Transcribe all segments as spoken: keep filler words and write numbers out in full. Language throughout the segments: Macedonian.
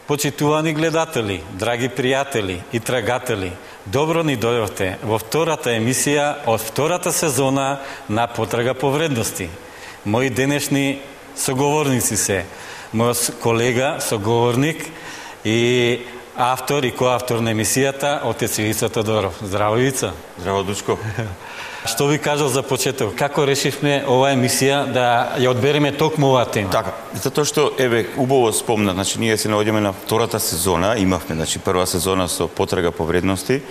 Почитувани гледатели, драги пријатели и трагатели, добро ни дојдовте во втората емисија од втората сезона на Потрага по вредности. Мои денешни соговорници се мојот колега, соговорник и автор и коавтор на емисијата, отец Ивица Тодоров. Здраво, Ивица. Здраво, Дучко. Што ви кажал за почеток? Како решивме оваа емисија да ја одбереме токму оваа тема? Така, затоа што, еве, убаво спомна, значи ние се наоѓаме на втората сезона, имавме, значи, прва сезона со Потрага по вредности,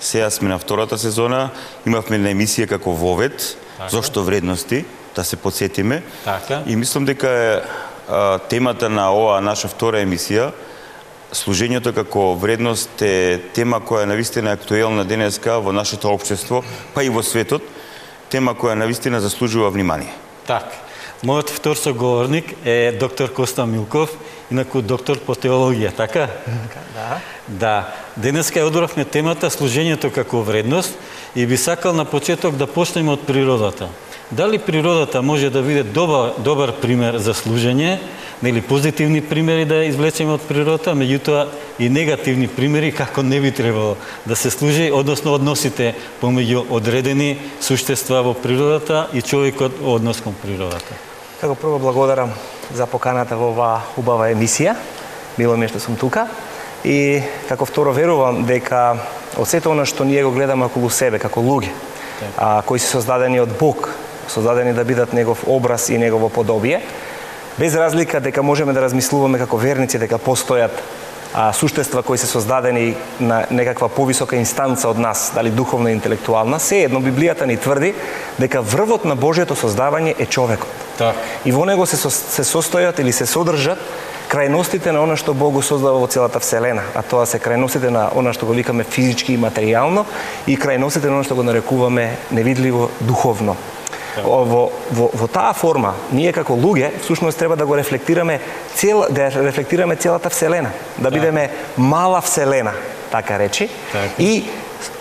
сега сме на втората сезона, имавме на емисија како Вовет, така. Зошто вредности, да се подсетиме. Така. И мислам дека е а, темата на оваа наша втора емисија, служењето како вредност е тема која навистина е актуелна денеска во нашето општество, па и во светот, тема која навистина заслужува внимание. Так. Мојот втор соговорник е доктор Коста Милков, инаку доктор по теологија, така? Да. Да. Денеска ја одбравме темата служењето како вредност и би сакал на почеток да почнеме од природата. Дали природата може да биде добар, добар пример за служење, нели позитивни примери да извлечеме од природата, меѓутоа и негативни примери како не би требало да се служи, односно односите помеѓу одредени суштества во природата и човекот однос кон природата. Како прво благодарам за поканата во оваа убава емисија. Мило ми е што сум тука. И како второ верувам дека од сето она што ние го гледаме околу себе како луѓе, а, кои се создадени од Бог, создадени да бидат негов образ и негово подобие, без разлика дека можеме да размислуваме како верници дека постојат а, суштества кои се создадени на некаква повисока инстанца од нас, дали духовна и интелектуална, се едно Библијата ни тврди дека врвот на Божјото создавање е човекот. Так. И во него се, се состојат или се содржат крајностите на она што Бог го создава во целата вселена, а тоа се крајностите на она што го викаме физички и материјално и крајностите на она што го нарекуваме невидливо духовно. Во, во, во таа форма, ние како луѓе, всушност треба да го рефлектираме, цел, да рефлектираме целата вселена, да бидеме мала вселена, така речи, так. И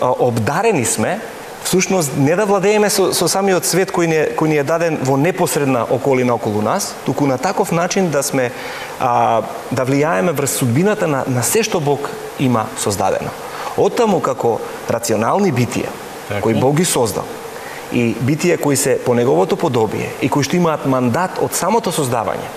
а, обдарени сме, всушност не да владееме со, со самиот свет кој ни, кој ни е даден во непосредна околина околу нас, туку на таков начин да сме, а, да влијаеме врз судбината на, на се што Бог има создадено. Оттаму како рационални битија, так. кои Бог ги создал, и битија кои се по неговото подобие и кои што имаат мандат од самото создавање,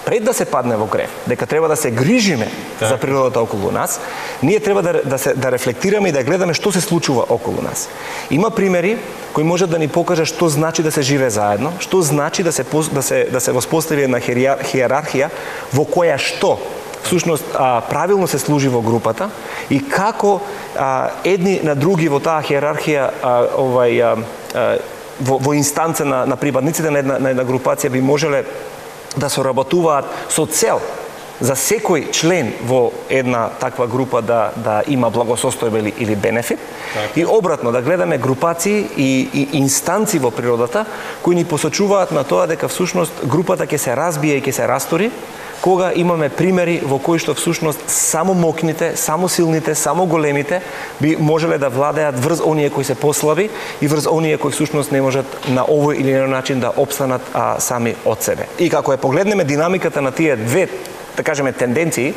пред да се падне во грев, дека треба да се грижиме так. за природата околу нас, ние треба да, да, се, да рефлектираме и да гледаме што се случува околу нас. Има примери кои можат да ни покажат што значи да се живее заедно, што значи да се, да се, да се воспостави една хиерархија во која што всушност а, правилно се служи во групата и како а, едни на други во таа хиерархија а, овај а, а, во, во инстанца на, на припадниците на една, на една групација би можеле да соработуваат со цел за секој член во една таква група да, да има благосостојба или, или бенефит. Так. И обратно, да гледаме групации и, и инстанци во природата кои ни посочуваат на тоа дека всушност групата ќе се разбие и ќе се растори, кога имаме примери во кои што всушност само мокните, само силните, само големите би можеле да владеат врз оние кои се послаби и врз оние кои всушност не можат на овој или инај начин да опстанат а, сами од себе. И како ја погледнеме динамиката на тие две, да кажеме, тенденции,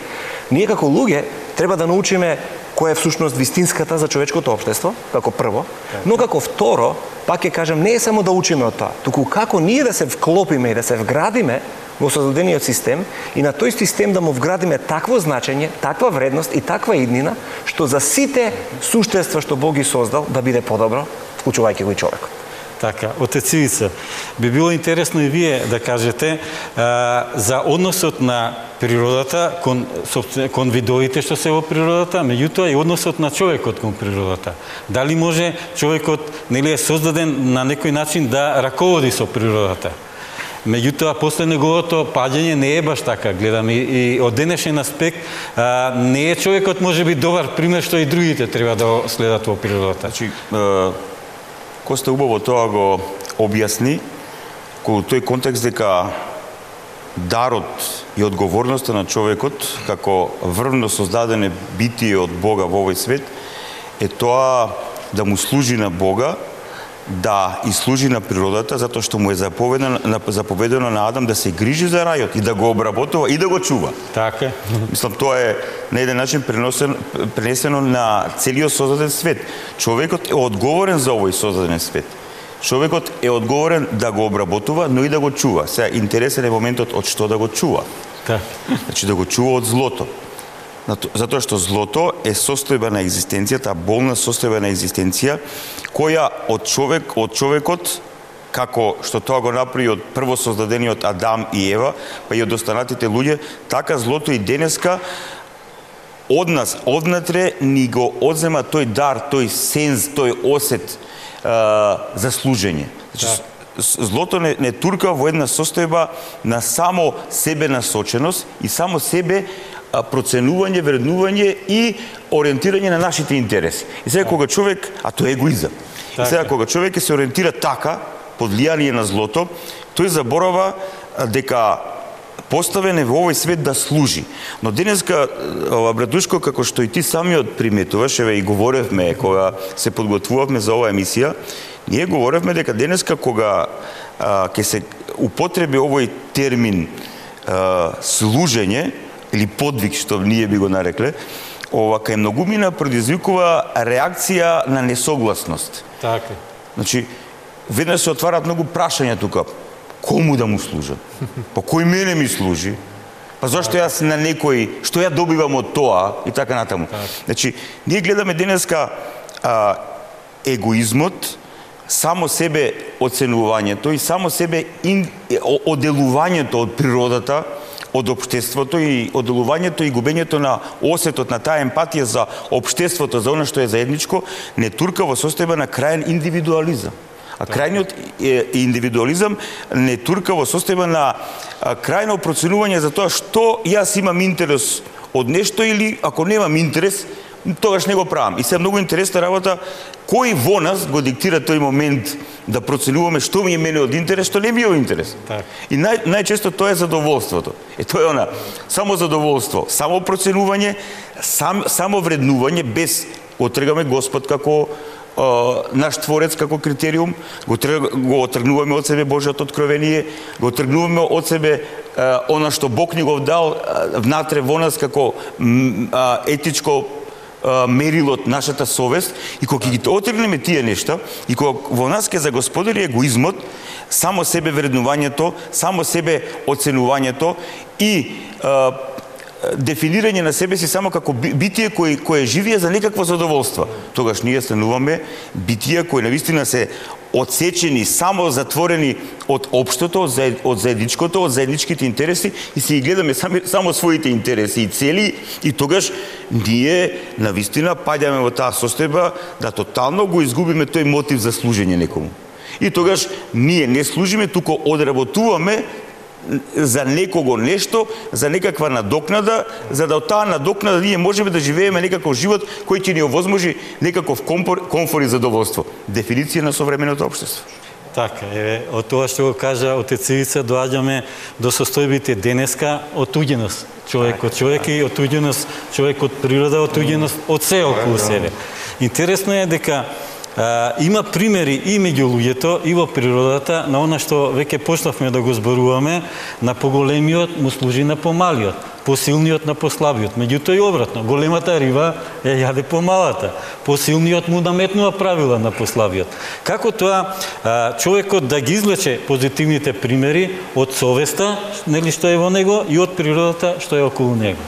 ние како луѓе треба да научиме која е всушност вистинската за човечкото општество, како прво, но како второ, пак ќе кажам, не е само да учиме од тоа, туку како ние да се вклопиме и да се вградиме во создадениот систем и на тој систем да му вградиме такво значење, таква вредност и таква иднина, што за сите суштества што Бог ги создал да биде подобро, вклучувајќи го и човекот. Така, отец Ивица, би било интересно и вие да кажете а, за односот на природата кон, кон видовите што се во природата, меѓутоа и односот на човекот кон природата. Дали може човекот, нели, е создаден на некој начин да раководи со природата? Меѓутоа, после неговото паѓање не е баш така, гледам, и, и од денешен аспект а, не е човекот може би добар пример што и другите треба да следат во природата. Значи, Коста убаво тоа го објасни, кога тој контекст дека дарот и одговорноста на човекот како врвно создадене битие од Бога во овој свет е тоа да му служи на Бога да и служи на природата, затоа што му е заповедено, заповедено на Адам да се грижи за рајот и да го обработува и да го чува. Така. Мислам, тоа е на еден начин пренесено, пренесено на целиот создаден свет. Човекот е одговорен за овој создаден свет. Човекот е одговорен да го обработува, но и да го чува. Сега, интересен е моментот од што да го чува. Така. Значи, да го чува од злото. Затоа што злото е состојба на екзистенцијата, болна состојба на екзистенција, која од човек, од човекот, како што тоа го направи од прво создадениот Адам и Ева, па и од останатите луѓе, така злото и денеска од нас, однатре, ни го одзема тој дар, тој сенз, тој осет а, за служење. Значи, злото не, не турка во една состојба на само себе насоченост и само себе проценување, вреднување и ориентирање на нашите интереси. И сега кога човек, а тоа е егоизам. И сега кога човек се ориентира така, под влијание на злото, тој заборава дека поставен е во овој свет да служи. Но денеска, ова братушко, како што и ти самиот приметуваш, еве и говоревме кога се подготвувавме за оваа емисија, ние говоревме дека денеска кога а, ќе се употреби овој термин а, служење, или подвиг, што ние би го нарекле, ова кај многумина предизвикува реакција на несогласност. Така. Значи, веднаш се отварат многу прашања тука. Кому да му служам? Па кој мене ми служи? Па зашто јас на некој, што ја добивам од тоа и така натаму. Значи, ние гледаме денеска а, егоизмот, само себе оценувањето и само себе ин, оделувањето од природата, од општеството и оделувањето и губењето на осетот на таа емпатија за општеството, за она што е заедничко, не турка во состојба на крајен индивидуализам. А крајниот индивидуализам не турка во состојба на крајно проценување за тоа што јас имам интерес од нешто или ако немам интерес, тогаш не го правам. И се многу интересна работа кој во нас го диктира тој момент да проценуваме што ми е мене од интерес, што не ми е од интерес. Так. И нај, најчесто тоа е задоволството. Е тоа е она, само задоволство, само проценување, сам, само вреднување без отргаме Господ како Uh, наш Творец како критериум, го, го отргнуваме од себе Божјото откровение, го отргнуваме од себе uh, она што Бог ни го дал uh, внатре во нас како uh, етичко uh, мерило од нашата совест, и кога ги отргнеме тие нешта, и кога во нас ќе загосподари егоизмот, само себе вреднувањето, само себе оценувањето и uh, дефинирање на себе си само како битие кој кое живее за некакво задоволство. Тогаш ние стануваме битија кои навистина се одсечени, само затворени од општото, од заедничкото, од заедничките интереси и си ги гледаме сами, само своите интереси и цели, и тогаш ние навистина паѓаме во таа состојба да тотално го изгубиме тој мотив за служење некому. И тогаш ние не служиме, туку одработуваме за некого нешто, за некаква надокнада, за да од таа надокнада ние можеме да живееме некаков живот кој ќе ни овозможи некаков комфор, комфор и задоволство. Дефиниција на современото општество. Така, еве, од тоа што го кажа отец Ивица, доаѓаме до состојбите денеска отуѓеност. Човек од човек и отуѓеност, човек од природа, отуѓеност од се околу себе. Интересно е дека Uh, има примери и меѓу луѓето, и во природата, на она што веќе почнавме да го зборуваме, на поголемиот му служи на помалиот, посилниот на послабиот. Меѓутоа и обратно, големата риба ја јаде помалата, посилниот му наметнува правила на послабиот. Како тоа uh, човекот да ги извлече позитивните примери од совеста, нели што е во него, и од природата што е околу него?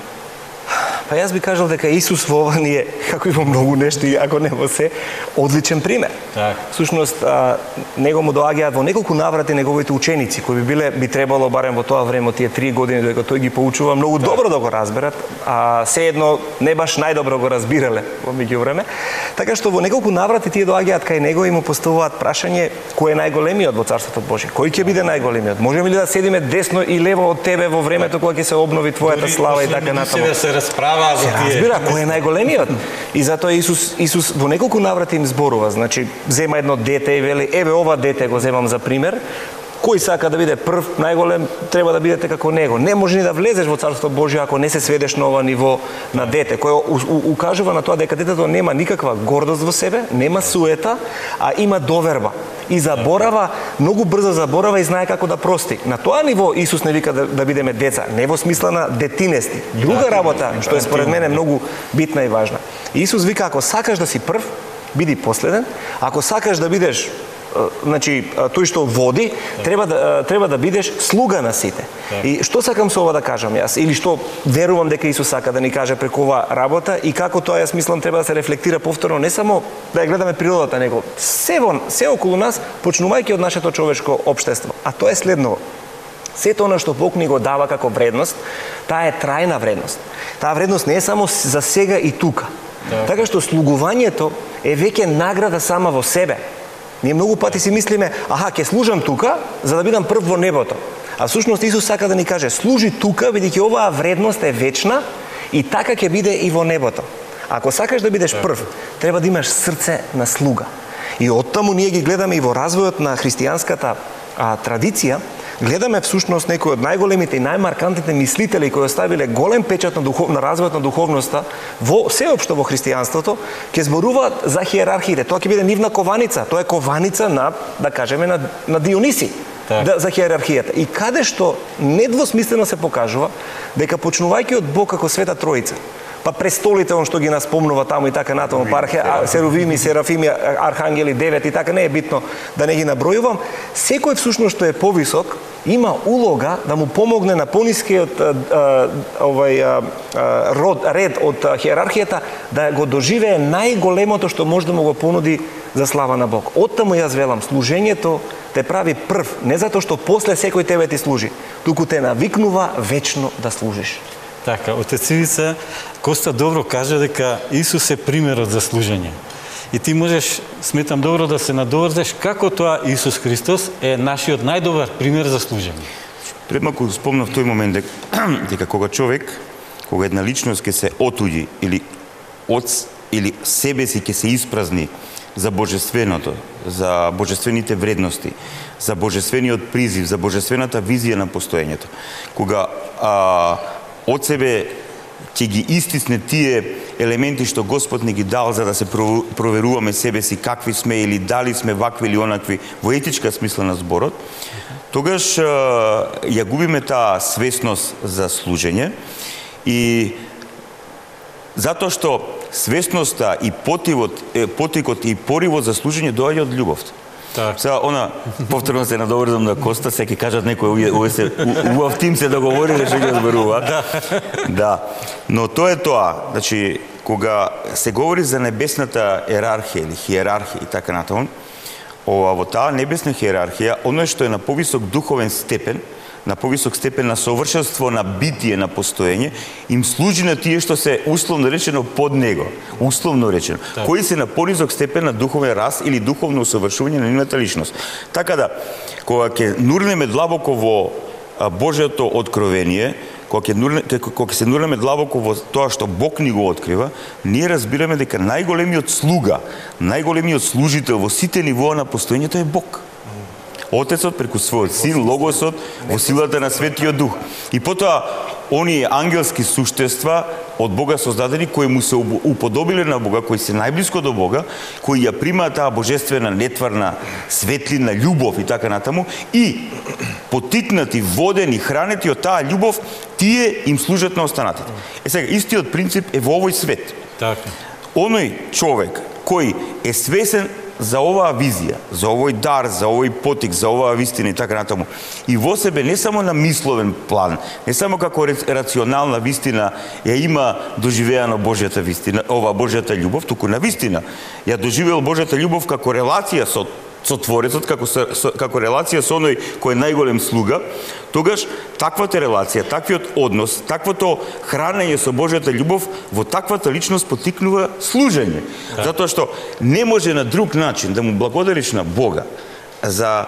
Па јас би кажал дека Исус во ова ни е, како и во многу нешто, и ако не во се, одличен пример. Так. Всушност, а, него му доаѓаат во неколку наврати неговите ученици, кои би биле, би требало барем во тоа време, тие три години додека тој ги поучува, многу так. добро да го разберат, а сеедно не баш најдобро го разбирале во меѓувреме. Така што во неколку наврати тие доаѓаат кај него и му поставуваат прашање кој е најголемиот во Царството Божие. Кој ќе биде најголемиот? Можеме ли да седиме десно и лево од тебе во времето кога ќе се обнови твојата слава и така натаму? Се разбира кој е најголемиот. И затоа Исус Исус во неколку наврати им зборува, значи зема едно дете и вели еве ова дете го земам за пример, кој сака да биде прв, најголем, треба да бидете како него. Не може ни да влезеш во Царство Божие ако не се сведеш на ова ниво на дете, кој укажува на тоа дека детето нема никаква гордост во себе, нема суета, а има доверба. И заборава, многу брзо заборава и знае како да прости. На тоа ниво Исус не вика да, да бидеме деца, не во смисла на детинести. Друга работа, што е според мене многу битна и важна. Исус вика, ако сакаш да си прв, биди последен, ако сакаш да бидеш значи тој што води, треба да треба да бидеш слуга на сите. И што сакам со ова да кажам јас, или што верувам дека Исус сака да ни каже преку ова работа и како тоа јас мислам треба да се рефлектира повторно, не само да ја гледаме природата, него се во се околу нас, почнувајќи од нашето човечко општество. А тоа е следново. Сето она што Бог ни го дава како вредност, таа е трајна вредност. Таа вредност не е само за сега и тука. Да. Така што слугувањето е веќе награда сама во себе. Ние многу пати си мислиме, аха, ќе служам тука, за да бидам прв во небото. А всушност Исус сака да ни каже, служи тука, бидејќи оваа вредност е вечна и така ќе биде и во небото. Ако сакаш да бидеш прв, треба да имаш срце на слуга. И оттаму ние ги гледаме и во развојот на христијанската а, традиција, гледаме всушност некои од најголемите и најмаркантните мислители кои оставиле голем печат на, духов, на развојот на духовноста во сеопшто во христијанството, ќе зборуваат за хиерархиите. Тоа ќе биде нивна кованица, тоа е кованица на, да кажеме, на, на Диониси, да, за хиерархијата. И каде што недвосмислено се покажува дека почнувајќи од Бог како Света Троица, па престолите он што ги наспомнува таму и така натаму, па серувими, серафими, архангели, девет и така, не е битно да не ги набројувам, секој всушност што е повисок има улога да му помогне на понискиот овај род ред од хиерархијата да го доживее најголемото што може да му го понуди за слава на Бог. Оттаму јас велам, служењето те прави прв, не затоа што после секој тебе ти служи, туку те навикнува вечно да служиш. Така, отец Ивица Коста добро кажа дека Исус е примерот за служење. И ти можеш, сметам добро да се надоврзеш како тоа Исус Христос е нашиот најдобар пример за служење. Пред малку спомнав тој момент дека, дека кога човек, кога една личност ќе се отуѓи или од или себе си ќе се испразни за божественото, за божествените вредности, за божествениот призив, за божествената визија на постоењето. Кога а, од себе ќе ги истисне тие елементи што Господ ни ги дал за да се проверуваме себе си какви сме или дали сме вакви или онакви во етичка смисла на зборот, тогаш ја губиме таа свесност за служење и затоа што свесноста и потивот, потикот и поривот за служење доаѓа од љубовта. Так. Сега, она, повторно се надоврзам на Коста, се ќе кажат некој, овие се, убав тим се договориле, што ќе зборува. Да. Да. Но тоа е тоа, значи, кога се говори за небесната ерархија или хиерархија и така натаму, ова во таа небесна хиерархија, оно што е на повисок духовен степен, на повисок степен на совршенство, на битие, на постоење, им служи на тие што се условно речено под него, условно речено, так. Кои се на понизок степен на духовен раст или духовно усовршување на нивната личност. Така да, кога ќе нурнеме длабоко во Божјото откровение, кога ќе кога се нурнеме длабоко во тоа што Бог ни го открива, ние разбираме дека најголемиот слуга, најголемиот служител во сите нивоа на постоењето е Бог. Отецот преку својот син, Логосот, во силата на Светиот Дух. И потоа, оние ангелски суштества од Бога создадени, кои му се уподобиле на Бога, кои се најблиско до Бога, кои ја примаат таа божествена, нетварна, светлина, љубов и така натаму, и потикнати, водени, хранети од таа љубов, тие им служат на останатите. Е сега, истиот принцип е во овој свет. Така. Оној човек кој е свесен за оваа визија, за овој дар, за овој потик, за оваа вистина и така натаму. И во себе не само на мисловен план, не само како рационална вистина ја има доживеано Божјата вистина, ова Божјата љубов, туку на вистина ја доживел Божјата љубов како релација со со Творецот, како со, со, како релација со оној кој е најголем слуга, тогаш таквата релација, таквиот однос, таквото хранење со Божјата љубов во таквата личност потикнува служење. Да. Затоа што не може на друг начин да му благодариш на Бога за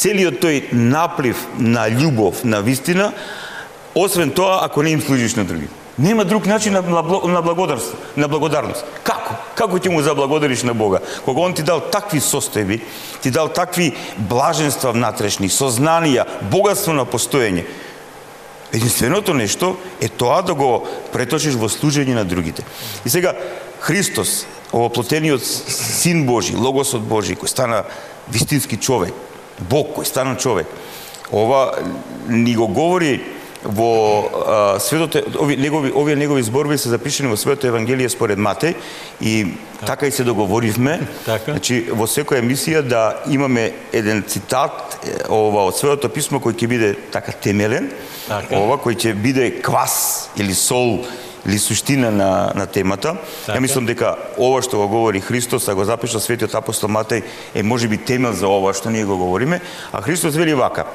целиот тој наплив на љубов, на вистина, освен тоа ако не им служиш на други. Нема друг начин на, на благодарност, на благодарност. Како? Како ќе му заблагодариш на Бога? Кога Он ти дал такви состојби, ти дал такви блаженства внатрешни, сознанија, богатство на постоење. Единственото нешто е тоа да го преточиш во служење на другите. И сега, Христос, овоплотениот Син Божи, Логосот Божи, кој стана вистински човек, Бог кој стана човек, ова ни го говори во а, светото, ови негови овие негови зборови се запишани во Светото Евангелие според Матеј и так. така и се договоривме. Така. Значи во секоја емисија да имаме еден цитат ова од Светото писмо кој ќе биде така темелен, така. ова кој ќе биде квас или сол или суштина на на темата. Така. Ја мислам дека ова што го говори Христос, а го запиша Светиот апостол Матеј, е можеби темел за ова што ние го говориме, а Христос вели вака: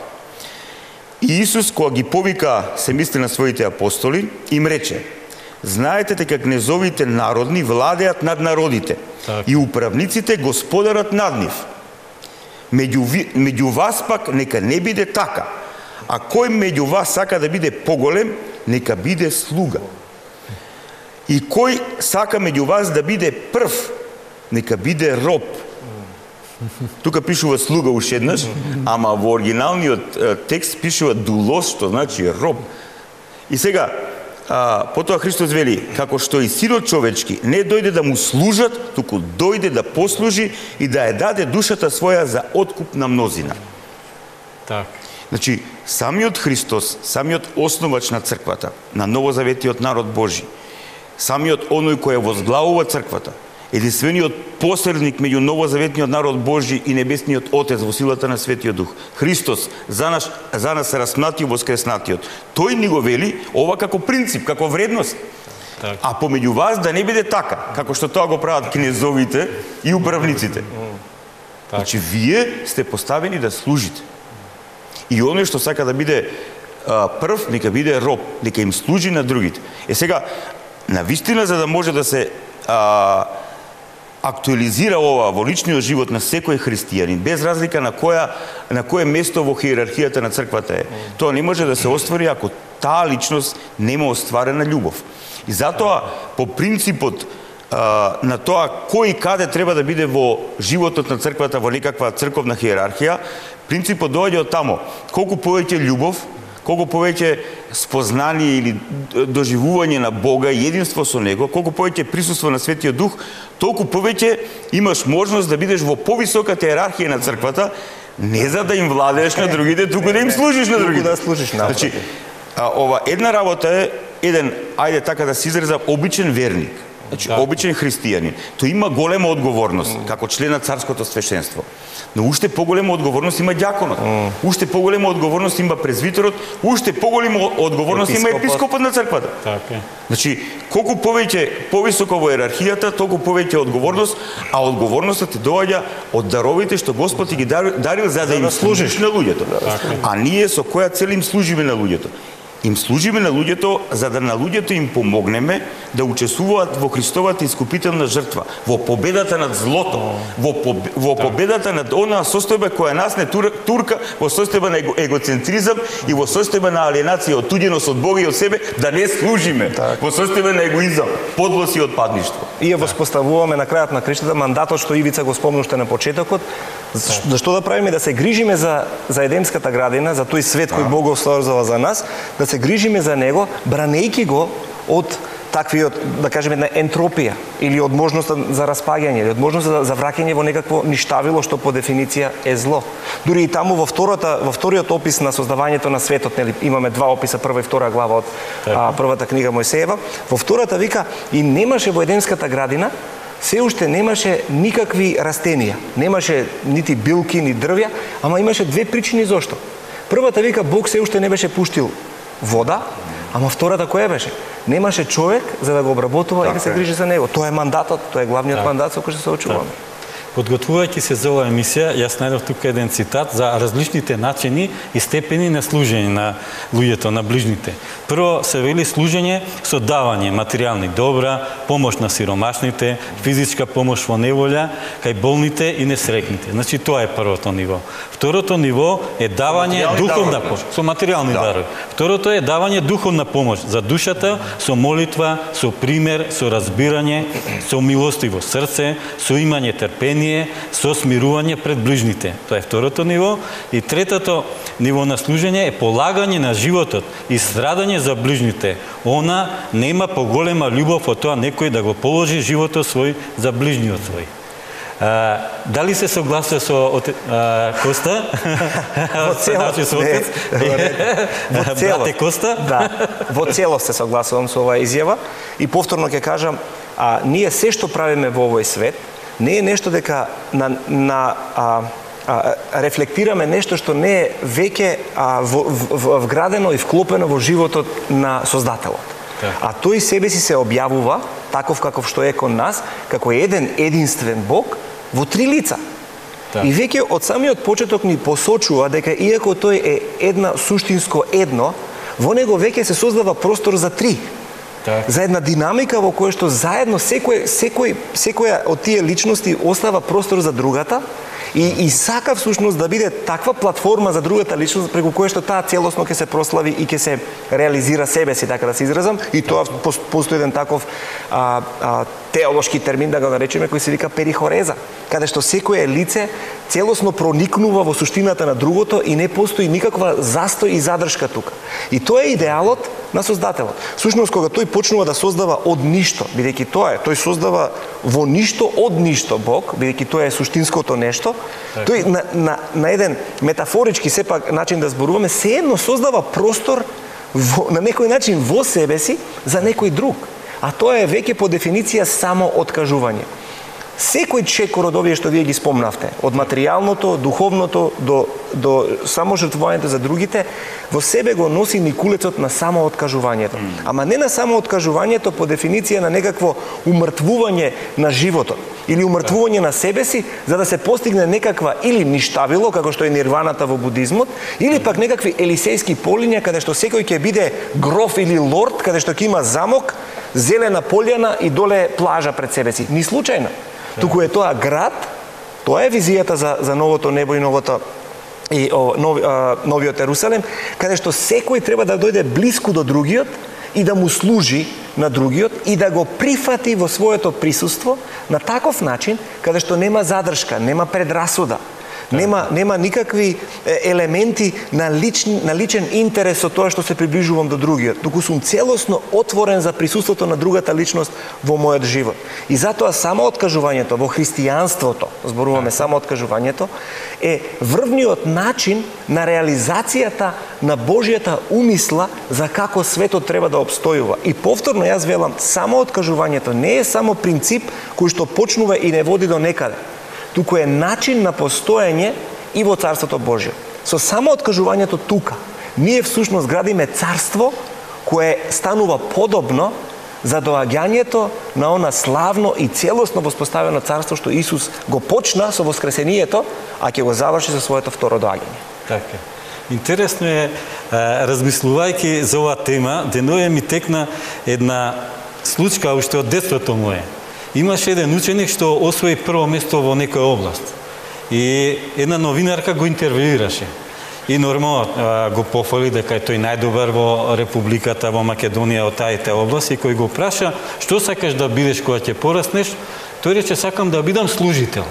И Исус, кога ги повика, се мисли на своите апостоли, им рече: знаете дека кнезовите народни владеат над народите так. и управниците господарат над нив. Меѓу, ви, меѓу вас пак нека не биде така, а кој меѓу вас сака да биде поголем, нека биде слуга. И кој сака меѓу вас да биде прв, нека биде роб. Тука пишува слуга уште еднаш, ама во оригиналниот текст пишува дулос, што значи роб. И сега, а, потоа Христос вели, како што и Синот човечки не дојде да му служат, туку дојде да послужи и да ја даде душата своја за откуп на мнозина. Так. Значи, самиот Христос, самиот основач на црквата, на новозаветиот народ Божи, самиот оној кој ја возглавува црквата, единствениот посредник меѓу новозаветниот народ Божи и небесниот Отец во силата на Светиот Дух. Христос за нас за нас се распнатиот воскреснатиот. Тој ни го вели ова како принцип, како вредност. Так. А помеѓу вас да не биде така, како што тоа го прават кнезовите и управниците. Так. Значи вие сте поставени да служите. И оној што сака да биде а, прв, нека биде роб, нека им служи на другите. Е сега, навистина за да може да се а, актуализира ова во личниот живот на секој христијанин, без разлика на која на кое место во хиерархијата на црквата е. Тоа не може да се оствари ако таа личност нема остварена љубов. И затоа по принципот а, на тоа кој и каде треба да биде во животот на црквата, во некаква црковна хиерархија, принципот доаѓа од тамо. Колку повеќе љубов, колку повеќе спознание или доживување на Бога и единство со Него, колку повеќе присуство на Светиот Дух, толку повеќе имаш можност да бидеш во повисоката иерархија на црквата, не за да им владееш на другите, туку да им служиш на другите. Да служиш на Значи, а, ова една работа е еден, ајде така да се изразам, обичен верник. Значи, да. Обичен христијанин. Тој има голема одговорност mm. како член на царското свештенство. Но уште поголема одговорност има ѓаконот. Mm. Уште поголема одговорност има презвитерот, уште поголема одговорност епископот. Има епископот на црквата. Така. Значи, колку повеќе повисоко во иерархијата, толку повеќе одговорност, а одговорноста ти доаѓа од даровите што Господ ти ги дарил, дарил за да им служиш на луѓето. Така. А ние со која цел им служиме на луѓето? Им служиме на луѓето за да на луѓето им помогнеме да учествуваат во Христовата искупителна жртва, во победата над злото, во, поб... во победата над онаа состојба која нас не тур... турка, во состојба на его... егоцентризам и во состојба на алиенација, отуѓеност од Бога и од себе, да не служиме, так. Во состојба на егоизам, подлост и отпадништво. И ја воспоставуваме на крајот на криштата мандатот што Ивица го спомнуште на почетокот. Зашто да правиме? Да се грижиме за, за Едемската градина, за тој свет кој Бог го создаде за нас, да се грижиме за него, бранејќи го од таквиот, да кажеме, една ентропија или од можноста за распаѓање, или од можноста за, за враќање во некакво ништавило што по дефиниција е зло. Дури и таму во втората во вториот опис на создавањето на светот, нели имаме два описа, прва и втора глава од а, првата книга Мојсеева. Во втората вика и немаше во Едемската градина се уште немаше никакви растенија, немаше нити билки, ни дрвја, ама имаше две причини зошто. Првата вика Бог се уште не беше пуштил вода, ама втората која беше? Немаше човек за да го обработува так, и да се грижи за него. Тоа е мандатот, тоа е главниот так. мандат со кој што се очуваме. подготвувајќи се за оваа емисија, јас најдов тука еден цитат за различните начини и степени на служење на луѓето, на ближните. Прво се вели служење со давање материјални добра, помош на сиромашните, физичка помош во неволја, кај болните и несреќните. Значи тоа е првото ниво. Второто ниво е давање духовна помош со материјални дарови. Второто е давање духовна помош за душата со молитва, со пример, со разбирање, со милостиво срце, со имање трпение, со смирување пред ближните. Тоа е второто ниво. И третото ниво на служење е полагање на животот и страдање за ближните. Она нема поголема љубов од тоа некој да го положи животот свој за ближниот свој. А, дали се согласува со от, а, Коста? Во целост, не, во целост, Коста? Да, во целост се согласувам со оваа изјава и повторно ќе кажам, а, ние се што правиме во овој свет не е нешто дека на, на а, а, рефлектираме нешто што не е веќе а, в, в, вградено и вклопено во животот на Создателот. Так. А тој себе си се објавува таков каков што е кон нас, како еден единствен Бог во три лица. Так. И веќе од самиот почеток ни посочува дека иако тој е една суштинско едно, во него веќе се создава простор за три. Так. За една динамика во која што заедно секој, секој, секоја од тие личности остава простор за другата и, и сака всушност да биде таква платформа за другата личност преку која што таа целосно ќе се прослави и ќе се реализира себе си, така да се изразам, и тоа постои еден таков а, а, теолошки термин, да го наречеме, кој се вика перихореза, каде што секое лице целосно проникнува во суштината на другото и не постои никаква застој и задршка тука. И тоа е идеалот на Создателот. Всушност, кога тој почнува да создава од ништо, бидејќи тоа е, тој создава во ништо од ништо Бог, бидејќи тоа е суштинското нешто, тој на, на, на еден метафорички сепак начин да зборуваме, сеедно создава простор во, на некој начин во себе си за некој друг. А тоа е веќе по дефиниција само откажување. Секој чекор од овие што вие ги спомнавте, од материјалното, духовното до, до само жртвувањето за другите, во себе го носи никулецот на само откажувањето. Ама не на само откажувањето по дефиниција на некакво умртвување на животот или умртвување на себе си за да се постигне некаква или ништавило, како што е нирваната во будизмот, или пак некакви елисејски полиња каде што секој ќе биде гроф или лорд, каде што ќе има замок, зелена полјана и доле плажа пред себе си. Ни случајно. Туку е тоа град, тоа е визијата за, за новото небо и новото и о, нов, а, новиот Ерусалем, каде што секој треба да дојде блиску до другиот и да му служи на другиот и да го прифати во своето присуство на таков начин каде што нема задршка, нема предрасуда. Нема, нема никакви елементи на личен, на личен интерес од тоа што се приближувам до другиот, туку сум целосно отворен за присуството на другата личност во мојот живот. И затоа само откажувањето во христијанството, зборуваме само откажувањето, е врвниот начин на реализацијата на Божјата умисла за како светот треба да обстојува. И повторно јас велам, само откажувањето не е само принцип кој што почнува и не води до некаде, туку е начин на постоење и во Царството Божјо. Со само откажувањето тука, ние всушност градиме царство кое станува подобно за доаѓањето на она славно и целосно воспоставено царство што Исус го почна со воскресението, а ќе го заврши со своето второ доаѓање. Така. Интересно е, размислувајќи за оваа тема, денове ми текна една случка уште од детството мое. Имаше еден ученик што освои прво место во некоја област. И една новинарка го интервјуираше. И нормално го пофали дека е тој најдобар во Републиката, во Македонија, од таите област, и кој го праша што сакаш да бидеш кога ќе пораснеш, тој рече сакам да бидам служител.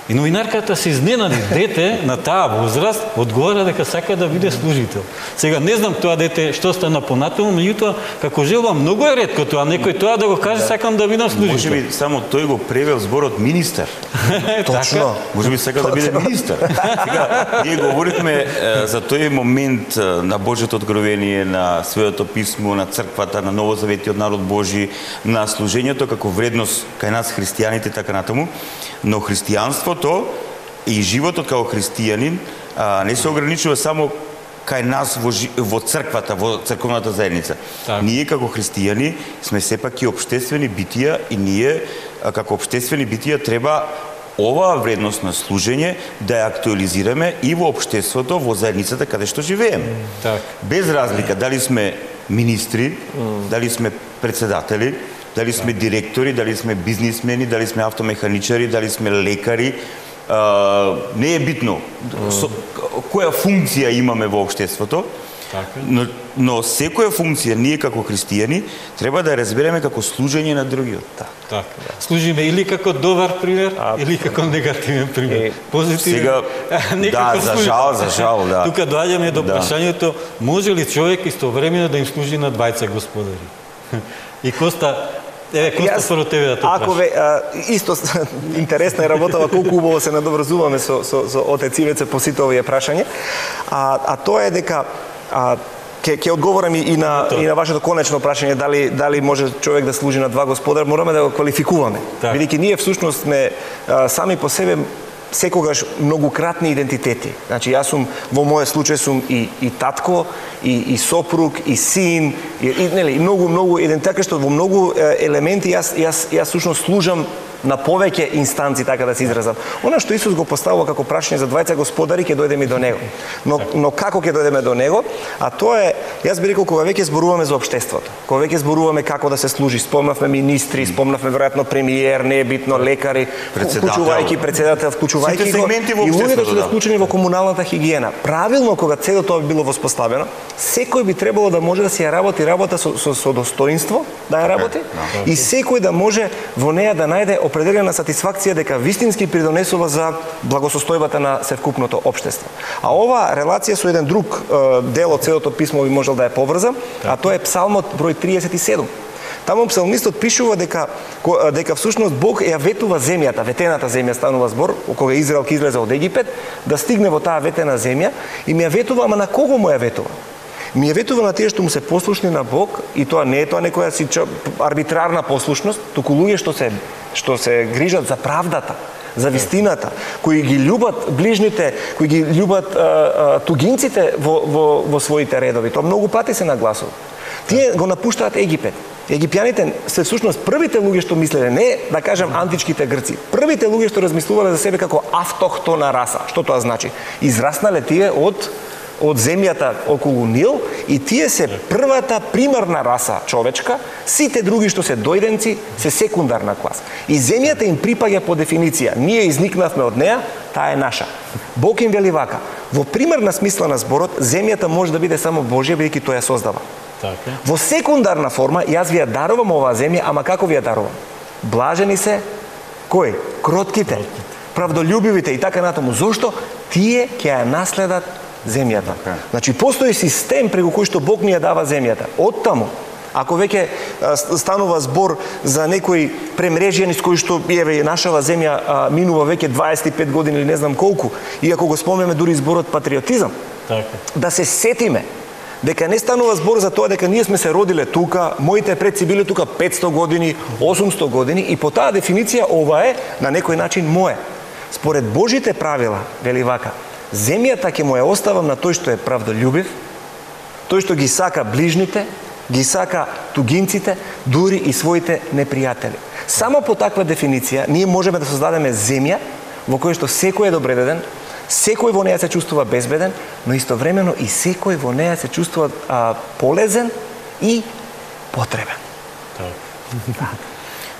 И новинарката се изненади, дете на таа возраст одговара дека сака да биде служител. Сега не знам тоа дете што стана понатаму, меѓутоа како желба многу е ретко тоа некој тоа да го каже сакам да бидам служител. Можеби само тој го превел зборот министер. Точно. Можеби сака да биде министер. Сега ние говорихме за тој момент на Божјото откровение, на Светото писмо, на црквата, на Новозаветиот народ Божи, на служењето како вредност кај нас христијаните така натаму, но христијанство то и животот како христијанин а, не се ограничува само кај нас во, во црквата, во црковната заедница. Так. Ние како христијани сме сепак и општествени битија и ние а, како општествени битија треба оваа вредност на служење да ја актуализираме и во општеството, во заедницата каде што живееме. Так. Без разлика дали сме министри, дали сме председатели, дали сме директори, дали сме бизнисмени, дали сме автомеханичари, дали сме лекари, а, не е битно со, која функција имаме во општеството, но, но секоја функција ние како христијани треба да ја разбереме како служење на другиот. Так. Так. Служиме или како добар пример, а, или како негативен пример. Е, Позитивен. Сега, да, за жал, за жал, да. Тука доаѓаме до да. прашањето, може ли човек истовремено да им служи на двајца господари? И Коста, еве Коста според тебе да тоа Ако ве, а, исто интересна е работава, колку убаво се надоврзуваме со со со отец Ивеце по сите овие прашања. А а тоа е дека а ќе ќе одговорам и на и на вашето конечно прашање дали дали може човек да служи на два господар, мораме да го квалификуваме. Бидејќи ние всушност сме а, сами по себе секогаш многократни идентитети. Значи јас сум во мојот случај сум и и татко, и и сопруг, и син, и, и нели многу многу идентитет, така што во многу елементи јас јас јас всушност служам на повеќе инстанци, така да се изразам. Она што Исус го поставува како прашање за двајца господари, ќе дојдеме и до него. Но, но како ќе дојдеме до него? А тоа е, јас би рекол, кога веќе зборуваме за општеството, кога веќе зборуваме како да се служи, спомнавме министри, спомнавме веројатно премиер, не е битно, лекари, вклучувајќи председател, вклучувајќи го, и луѓето што да вклучени во комуналната хигиена. Правилно, кога цело тоа би било воспоставено, секој би требало да може да си ја работи работа со, со, со достоинство, да ја работи, и секој да може во неја да најде определена сатисфакција дека вистински придонесува за благосостојбата на севкупното општество. А ова релација со еден друг е, дел од целото писмо би можел да ја поврзам, а тоа е Псалмот број триесет и седум. Таму псалмистот пишува дека дека всушност Бог ја ветува земјата, ветената земја станува збор, кога Израел ќе излезе од Египет, да стигне во таа ветена земја и ми ја ветува, ама на кого му ја ветува? Ми ја ветува на тие што му се послушни на Бог, и тоа не е тоа некоја си арбитрарна послушност, туку луѓе што се што се грижат за правдата, за вистината, кои ги љубат ближните, кои ги љубат а, а, тугинците во, во, во своите редови. Тоа многу пати се нагласува. Тие го напуштаат Египет. Египјаните се всушност првите луѓе што мислеле, не да кажам античките грци, првите луѓе што размислувале за себе како автохтона раса. Што тоа значи? Израснале тие од од земјата околу Нил, и тие се првата примарна раса човечка, сите други што се дојденци се секундарна класа. И земјата им припаѓа по дефиниција. Ние изникнавме од неа, таа е наша. Бог им вели вака: во примарна смисла на зборот, земјата може да биде само Божја, бидејќи тој ја создава. Така. Во секундарна форма, јас ви ја дарувам оваа земја, ама како ви ја дарувам? Блажени се кои? Кротките, правдолюбивите и така натаму. Зошто? Тие ќе ја наследат земјата. Okay. Значи постои систем преку кој што Бог ни ја дава земјата. Оттаму, ако веќе станува збор за некои премрежјани с кои што еве нашава земја а, минува веќе дваесет и пет години или не знам колку, и ако го спомнеме дури зборот патриотизам, okay, да се сетиме дека не станува збор за тоа дека ние сме се родиле тука, моите предци биле тука петсто години, осумсто години, и по таа дефиниција ова е на некој начин мое. Според Божите правила, вели вака: земјата ќе му ја оставам на тој што е правдолюбив, тој што ги сака ближните, ги сака тугинците, дури и своите непријатели. Само по таква дефиниција ние можеме да создадеме земја во која што секој е добредеден, секој во неја се чувствува безбеден, но истовремено и секој во неја се чувствува а, полезен и потребен. Да.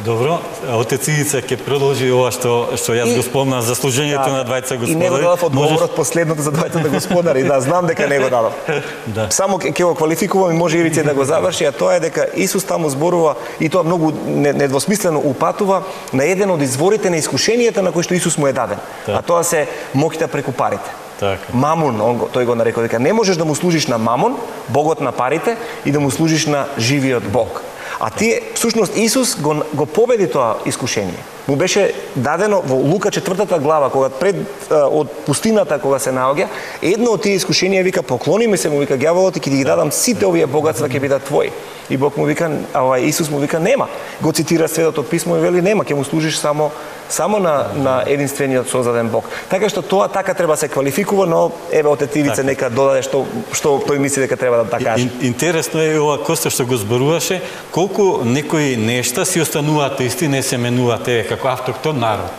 Добро, отец Ивица ќе продолжи ова што што јас и, го спомнав за служењето да, на двајца господари. И не го дадов одговорот Можеш... последното за двајцата господари, да, знам дека не го дадов. Да. Само ќе го квалификувам и може Ивица да го заврши, а тоа е дека Исус таму зборува, и тоа многу недвосмислено упатува на еден од изворите на искушенијата на кој што Исус му е даден. Да. А тоа се моќта преку парите. Така. Мамон, он го, тој го нарекол дека не можеш да му служиш на Мамон, богот на парите, и да му служиш на живиот Бог. А тие, всушност, Исус го, го победи тоа искушение. Му беше дадено во Лука четвртата глава, кога пред од пустината кога се наоѓа, едно од тие искушенија вика: поклони ми се, му вика ѓаволот, и ќе ги дадам сите овие богатства, ќе бидат твои. И Бог му вика, а Исус му вика: нема. Го цитира Светото писмо и вели: нема, ќе му служиш само само на на единствениот создаден Бог. Така што тоа така треба се квалификува, но еве отец Ивица нека додаде што што тој мисли дека треба да така каже. Интересно е ова Коста што го зборуваше, колку некои нешта си остануваат исти, не се менуваат, еве како автохтон народ.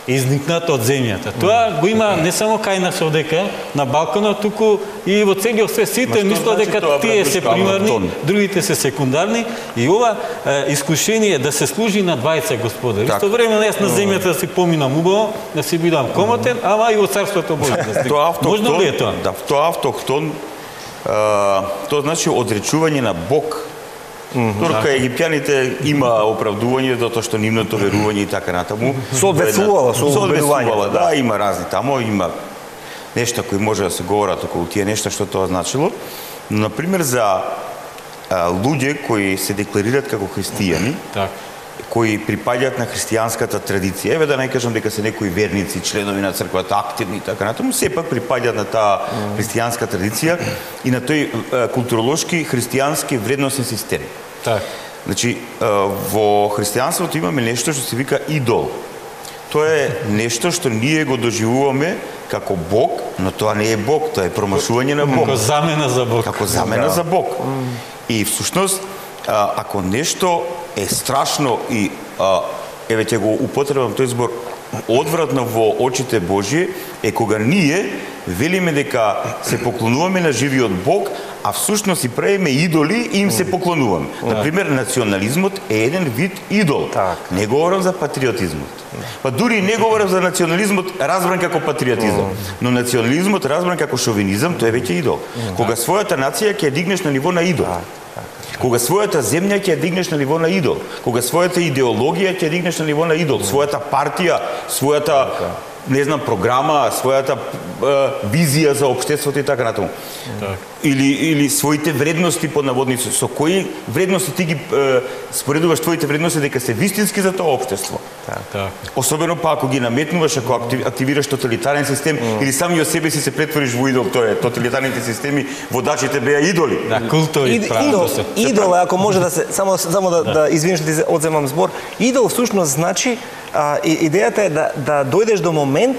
изникнат од земјата. Тоа го има не само кај нас овдека на Балканот, туку и во целиот свет. Сите мислат дека тие се примарни, другите се секундарни и ова е, искушение да се служи на двајца господари. Исто време јас на земјата да си поминам убаво, да си бидам комотен, ама и во царството Божие да стигнам. Можно ли е тоа? Да, тоа автохтон, тоа значи одречување на Бог. Турка египтјаните има оправдување затоа што нивното верување и така натаму. Соодветствувала со верувањето. Да, има разни тамо, има нешта кои може да се говорат околу тие нешта што тоа значило. Но, например, за а, луѓе кои се декларираат како христијани, так. кои припаѓаат на христијанската традиција, еве да не кажам дека се некои верници, членови на црквата, активни и така натаму, сепак припаѓаат на таа христијанска традиција и на тој а, културолошки христијански вредносен систем. Так. Значи, а, во христијанството имаме нешто што се вика идол. Тоа е нешто што ние го доживуваме како Бог, но тоа не е Бог, тоа е промашување на Бог. Како замена за Бог. Како замена за Бог. И всушност, а, ако нешто е страшно и, а, еве ќе го употребам тој збор, одвратно во очите Божие, е кога ние велиме дека се поклонуваме на живиот Бог, а всушност си правиме идоли и им се поклонуваме. Например, национализмот е еден вид идол. Так. Не говорам за патриотизмот. Па дури не говорам за национализмот разбран како патриотизам, но национализмот разбран како шовинизам, тоа е веќе идол. Кога својата нација ќе ја дигнеш на ниво на идол. Кога својата земја ќе ја дигнеш на ниво на идол, кога својата идеологија ќе ја дигнеш на ниво на идол, својата партија, својата не знам програма, својата е, визија за општеството и така натаму. Так. Или или своите вредности под наводници, со кои вредности ти ги е, споредуваш твоите вредности дека се вистински за тоа општество. Так. Так. Особено па ако ги наметнуваш, ако активираш тоталитарен систем mm. или сами од себе си се претвориш во идол, тоа е тоталитарните системи, водачите беа идоли. Да, култови Ид, правото идол, се. идол, ако може да се само само да, да. да извиниш да ти одземам збор, идол всушност значи а, и, идејата е да да дојдеш до момент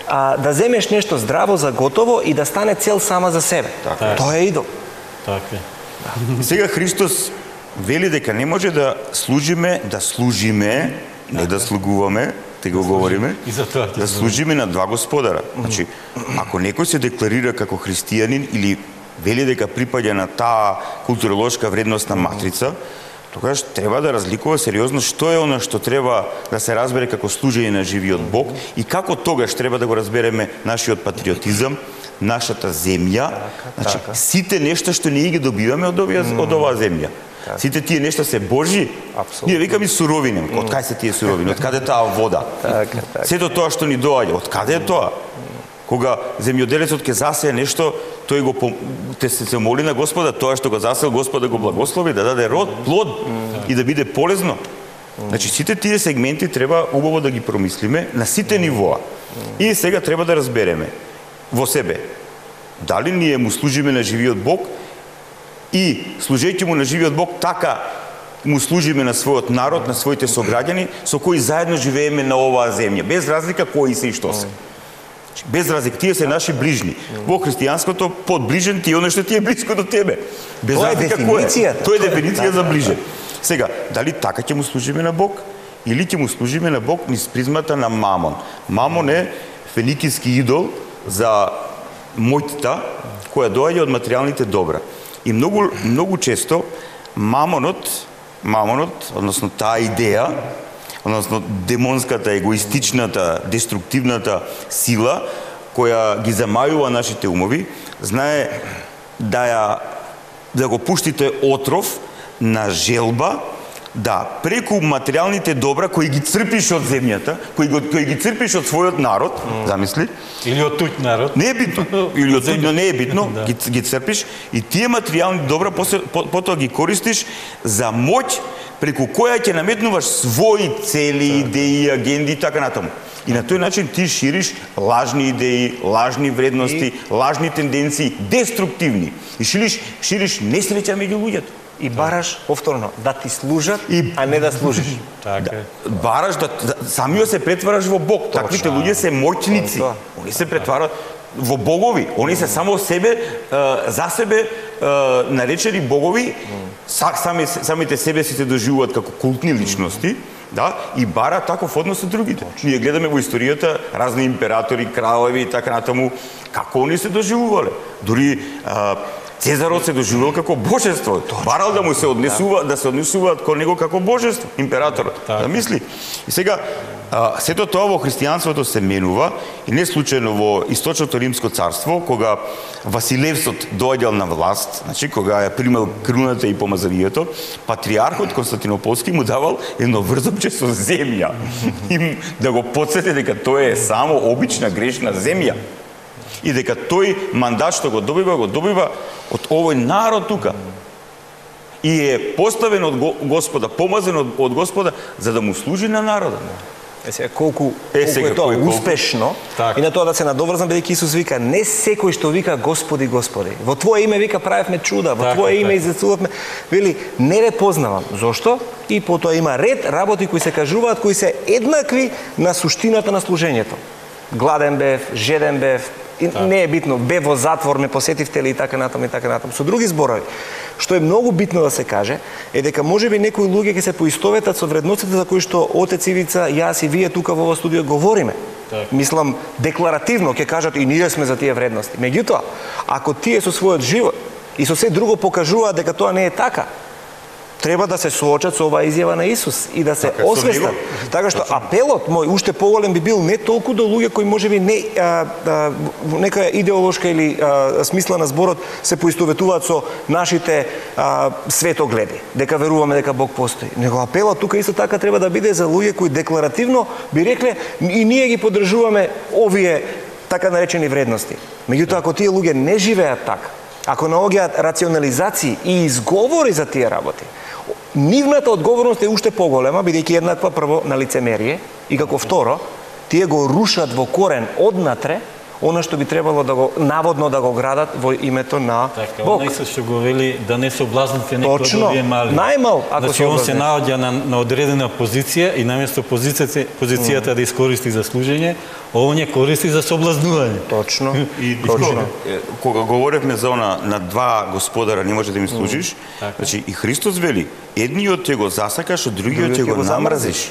а, да земеш нешто здраво за готово и да стане цел сама за себе. Така. Тоа е идол. Така е. И сега Христос вели дека не може да служиме, да служиме, не да слугуваме, те го говориме, И за тоа ќе да служиме на два господара. Значи, ако некој се декларира како христијанин или вели дека припаѓа на таа културолошка вредностна матрица, тогаш треба да разликува сериозно што е она што треба да се разбере како служење на живиот Бог и како тогаш треба да го разбереме нашиот патриотизам, нашата земја, значи сите нешта што ние ги добиваме од оваа од оваа земја. Сите тие нешта се Божји. Ние викаме суровини. Од кај се тие суровини? Од каде таа вода? Така, така. Сето тоа што ни доаѓа, од каде е тоа? Кога земјоделецот ќе засее нешто, тој го те се, се моли на Господа, тоа што го засеел Господа го благослови да даде род, плод и да биде полезно. Значи сите тие сегменти треба убаво да ги промислиме на сите нивоа. И сега треба да разбереме во себе дали ние му служиме на живиот Бог и служејќи му на живиот Бог така му служиме на својот народ, на своите сограѓани со кои заедно живееме на оваа земја, без разлика кои се и што се. Без разлика, тие се наши ближни. Во христијанското подближен ти е оно што ти е близко до тебе. Без Тоа е разлика кој е. дефиницијата. Тоа е дефиниција за ближен. Сега, дали така ќе му служиме на Бог или ќе му служиме на Бог низ призмата на Мамон? Мамон е феникиски идол за моќта која доаѓа од материјалните добра. И многу многу често Мамонот, Мамонот, односно таа идеја, односно демонската, егоистичната, деструктивната сила која ги замајува нашите умови, знае да ја да го пушти тој отров на желба да преку материјалните добра кои ги црпиш од земјата, кои, го, кои ги црпиш од својот народ, mm. замисли, Или од туѓ народ. не е битно, или од туѓ, но не е битно, Да. ги, ги црпиш и тие материјални добра после, по, потоа ги користиш за моќ преку која ќе наметнуваш своји цели, идеи, агенди и така натаму. И на тој начин ти шириш лажни идеи, лажни вредности, и... лажни тенденции, деструктивни. И шириш, шириш несреќа меѓу луѓето. И бараш повторно да ти служат, И- а не да служиш. Така е. Бараш да, да самиот се претвараш во Бог. Таквите луѓе се моќници. Тоа. Они се претварат во богови. Они се само себе, е, за себе е, наречени богови, са, сами, самите себе си се доживуваат како култни личности, да, и бара таков однос од другите. Ние гледаме во историјата разни императори, кралеви и така натаму, како они се доживувале. Дури а, Цезарот се доживувал како божество. Барал да му се однесува, да се однесуваат кон него како божество, императорот. Да мисли. И сега а, сето тоа во христијанството се менува и не случајно во Источното Римско царство, кога Василевсот доаѓал на власт, значи кога ја примал круната и помазанието, патриархот Константинополски му давал едно врзопче со земја. И да го потсети дека тоа е само обична грешна земја. И дека тој мандат што го добива, го добива од овој народ тука. И е поставен од Господа, помазен од, од Господа, за да му служи на народот. Е сега колку, е, колку сега, е тоа кој, успешно, так. И на тоа да се надоврзам, бидејќи Исус вика, не секој што вика Господи, Господи. Во Твое име вика правевме чуда, во так, Твое име так. излечувавме. Вели, не ве познавам. Зошто? И потоа има ред работи кои се кажуваат, кои се еднакви на суштината на служењето. Гладен бев, жеден бев, и не е битно, бев во затвор, ме посетивте ли и така натаму и така натаму. Со други зборови, што е многу битно да се каже, е дека можеби некои луѓе ќе се поистоветат со вредностите за кои што Отец Ивица, јас и вие тука во ова студио говориме. Так. Мислам, декларативно ќе кажат и ние сме за тие вредности. Меѓутоа, ако тие со својот живот и со се друго покажуваат дека тоа не е така, треба да се соочат со оваа изјава на Исус и да се така, освестат. Така што апелот мој уште поголем би бил не толку до луѓе кои можеби не а, а, нека идеолошка или а, смисла на зборот се поистоветуваат со нашите а, светогледи, дека веруваме дека Бог постои. Него апелот тука исто така треба да биде за луѓе кои декларативно би рекле и ние ги поддржуваме овие така наречени вредности. Меѓутоа ако тие луѓе не живеат така, ако наоѓаат рационализации и изговори за тие работи, нивната одговорност е уште поголема, бидејќи еднаква прво на лицемерие и како второ, тие го рушат во корен однатре она што би требало да го наводно да го градат во името на така, Бог. Така, што го вели да не соблазните некој од овие мали. Најмал ако значи, се он се облазнеш. наоѓа на, на одредена позиција и наместо позицијата, позицијата mm. да искористи за служење, он ја користи за соблазнување. Точно. И, Точно. И, кога говоревме за она на два господара не може да им служиш, mm. значи и Христос вели, едниот ќе го засакаш, а другиот ќе го намрзиш.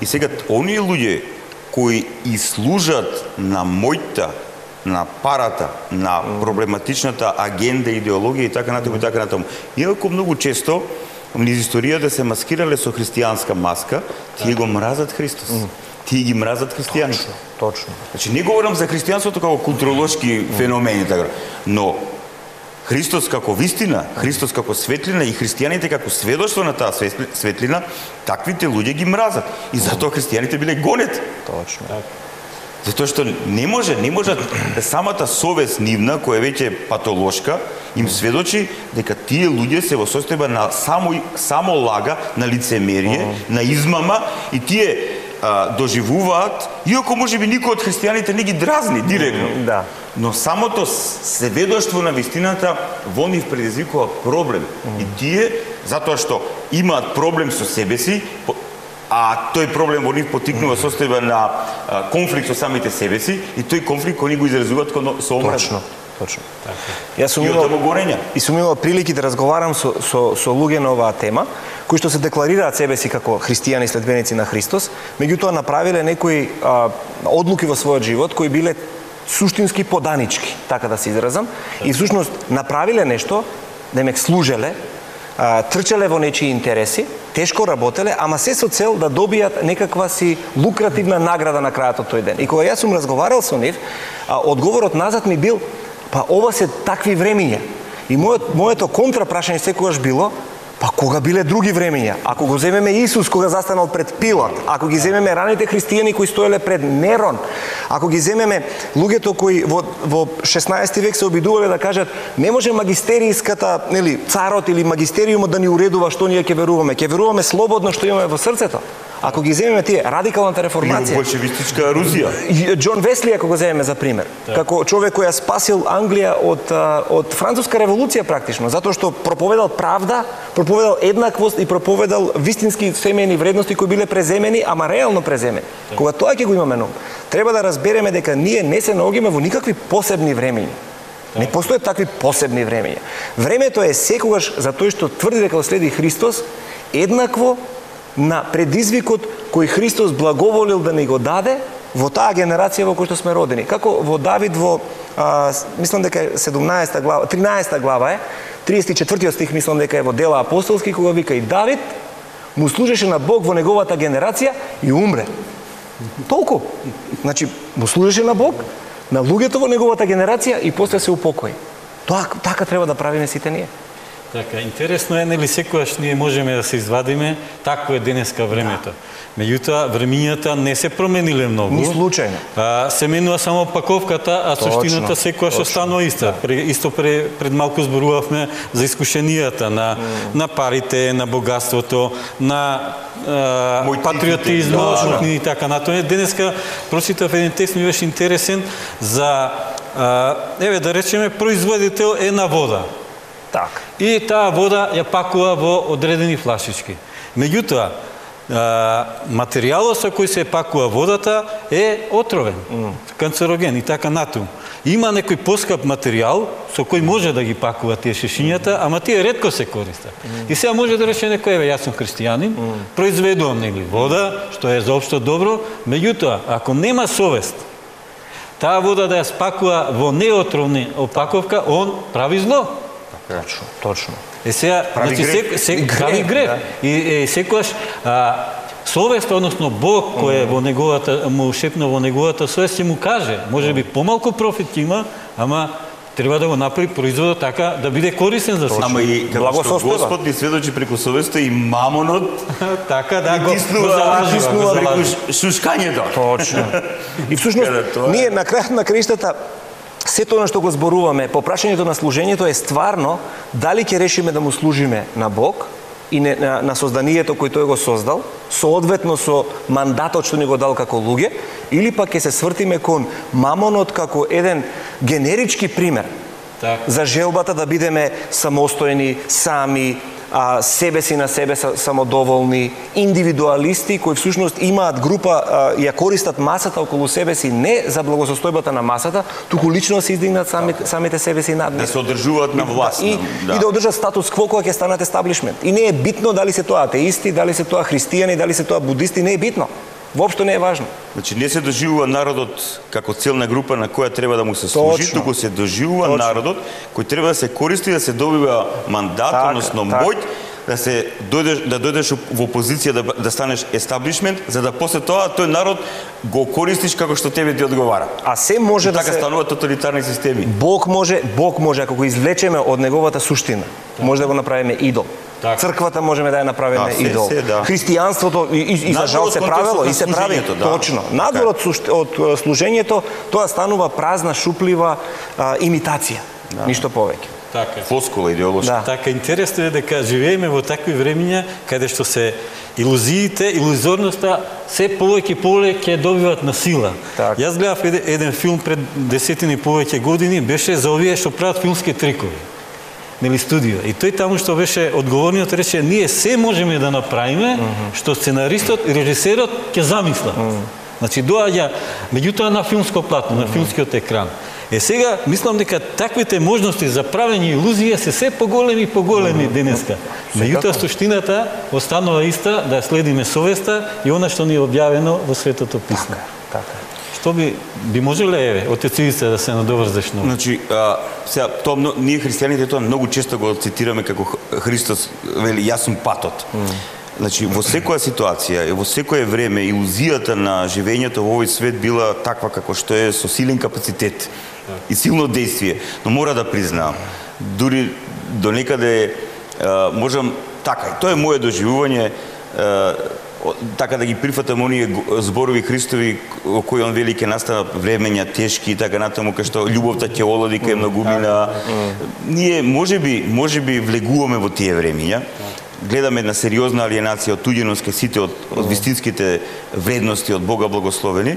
И сега оние луѓе кои и служат на мојта, на парата, на проблематичната агенда, идеологија и така натаму и така натаму. Иако многу често низ историјата се маскирале со христијанска маска, тие го мразат Христос. Тие ги мразат христијаните. Точно, точно. Значи не говорам за христијанството како културолошки феномени, така, но Христос како вистина, Христос како светлина и христијаните како сведоштво на таа светлина, таквите луѓе ги мразат. И затоа христијаните биле гонети. Точно. Затоа што не може, не може самата совест нивна, која веќе е патолошка, им сведочи дека тие луѓе се во состојба на само, само лага, на лицемерие, на измама и тие а, доживуваат, иако можеби никој од христијаните не ги дразни директно. Да. Но самото сведоштво на вистината во нив предизвикува проблем. И тие, затоа што имаат проблем со себе си, а тој проблем во нив потикнува состојба на а, конфликт со самите себе си и тој конфликт кој ни го изразуваат со омраза. Точно, точно. Јас сум И од тоа горење. И сум имал прилики да разговарам со, со, со луѓе на оваа тема, кои што се декларираат себе си како христијани следбеници на Христос, меѓутоа направиле некои а, одлуки во својот живот кои биле суштински поданички, така да се изразам, и всушност направиле нешто, немек служеле, а, трчале во нечии интереси, тешко работеле, ама се со цел да добијат некаква си лукративна награда на крајот од тој ден. И кога јас сум разговарал со нив, а, одговорот назад ми бил, па ова се такви времиња. И мојот, моето контрапрашање секогаш било, па кога биле други времиња? Ако го земеме Исус кога застанал пред Пилат, ако ги земеме раните христијани кои стоеле пред Нерон, ако ги земеме луѓето кои во, во шеснаести век се обидувале да кажат не може магистериската, нели, царот или магистериумот да ни уредува што ние ќе веруваме, ќе веруваме слободно што имаме во срцето. Ако ги земеме тие, радикалната реформација. Или болшевистичка Русија. Џон Весли, ако го земеме за пример, да. Како човек кој ја спасил Англија од, од француска револуција практично, затоа што проповедал правда, проповедал еднаквост и проповедал вистински семејни вредности кои биле преземени, ама реално преземени. Да. Кога тоа ќе го имаме на ум, треба да разбереме дека ние не се наоѓаме во никакви посебни времења. Да. Не постојат такви посебни времења. Времето е секогаш за тој што тврди дека следи Христос еднакво на предизвикот кој Христос благоволил да ни го даде во таа генерација во која што сме родени. Како во Давид во а, мислам дека е седумнаесета глава, тринаесета глава е, триесет и четвртиот стих мислам дека е во Дела апостолски, кога вика и Давид му служеше на Бог во неговата генерација и умре. Толку. Значи, му служеше на Бог, на луѓето во неговата генерација и после се упокои. Тоа така треба да правиме сите ние. Така, интересно е, нели секогаш ние можеме да се извадиме, такво е денеска времето. Меѓутоа, времињата не се промениле многу. Ни случајно. А, се менува само паковката, а суштината секогаш останува иста. Да. Исто пре, пред малку зборувавме за искушенијата на, mm. на парите, на богатството, на а, патриотизмот и така натаму. Денеска прочитав еден текст, ми беше интересен за, а, еве да речеме, производител е на вода. Так. И таа вода ја пакува во одредени флашички. Меѓутоа, материјалот со кој се пакува водата е отровен, mm. канцероген и така натаму. Има некој поскап материјал со кој може да ги пакува тие шишињата, ама тие ретко се користат. Mm. И сега може да рече некој, еве, јас сум христијанин, mm. произведувам нели вода, што е заопшто добро, меѓутоа, ако нема совест, таа вода да ја спакува во неотровна опаковка, он прави зло. Точно, точно. Е сега, прави значи, греф. се, се, Греф, прави греф. да. И, и секогаш а, совест, односно Бог кој е во неговата, му шепна во неговата совест, ќе му каже, може би помалку профит ќе има, ама треба да го направи производот така да биде корисен за сите. Ама и како што Господ ни сведочи преку совеста и мамонот така да го тиснува преку шушкањето. Точно. И всушност, ние на крајот на краиштата сето она што го зборуваме по прашањето на служењето е стварно дали ќе решиме да му служиме на Бог и не, на, на созданието кој тој го создал, соодветно со мандатот што ни го дал како луѓе, или пак ќе се свртиме кон мамонот како еден генерички пример так. за желбата да бидеме самостојни, сами, а, себе си на себе самодоволни, индивидуалисти кои всушност имаат група, а, ја користат масата околу себе си не за благосостојбата на масата, туку лично се издигнат самите, самите себе си над да се одржуваат на власт. И, да. и да одржат статус кво кога ќе станат естаблишмент. И не е битно дали се тоа атеисти, дали се тоа христијани, дали се тоа будисти, не е битно. Воопшто не е важно. Значи не се доживува народот како целна група на која треба да му се служи, Точно. туку се доживува Точно. народот кој треба да се користи да се добива мандат, Така, односно така. моќ да се дојдеш да дојдеш во позиција да да станеш естаблишмент, за да после тоа тој народ го користиш како што тебе ти одговара. А се може И да така се стануваат тоталитарни системи. Бог може, Бог може ако го извлечеме од неговата суштина, може да го направиме идол. Так. Црквата можеме да ја направиме Да, се, идол. се, да. Христијанството и, и, и за Надвор жал од се контекстот правело на и се прави служењето, да. точно. Надвор од, сушт- од е, служењето тоа станува празна, шуплива а, имитација. Да. Ништо повеќе. Така. Фоскула идеолошка. Да. Така, интересно е дека живееме во такви времиња каде што се илузиите, илузорноста се повеќе и повеќе добиваат на сила. Так. Јас гледав еден, еден филм пред десетини повеќе години, беше за овие што прават филмски трикови. Нели студио. И тој таму што беше одговорниот рече, ние се можеме да направиме, mm -hmm. што сценаристот и режисерот ќе замислат. Mm -hmm. Значи доаѓа меѓутоа на филмско платно, mm -hmm. на филмскиот екран. Е сега, мислам дека таквите можности за правење илузија се се поголеми и поголеми mm -hmm. денеска. Меѓутоа суштината останува иста, да следиме совеста и она што ни е објавено во Светото Писмо. Така, така. Што би би можеле, еве, отец Ивица, да се надоврзеш на? Значи, а, сега, тоа, мно- ние христијаните тоа многу често го цитираме како Х- Христос вели, јас сум патот. Mm. Значи, во секоја ситуација и во секое време илузијата на живењето во овој свет била таква како што е со силен капацитет и силно действие. Но мора да признаам, дури до некаде а, можам, така, тоа е моје доживување, а, о- така да ги прифатам оние го- зборови Христови во кои он вели ќе настанат времења тешки и така натаму, кај што љубовта ќе олади кај многумина. Ние можеби можеби влегуваме во тие времења. Гледаме една сериозна алиенација од туѓеност кај сите од, од вистинските вредности од Бога благословени.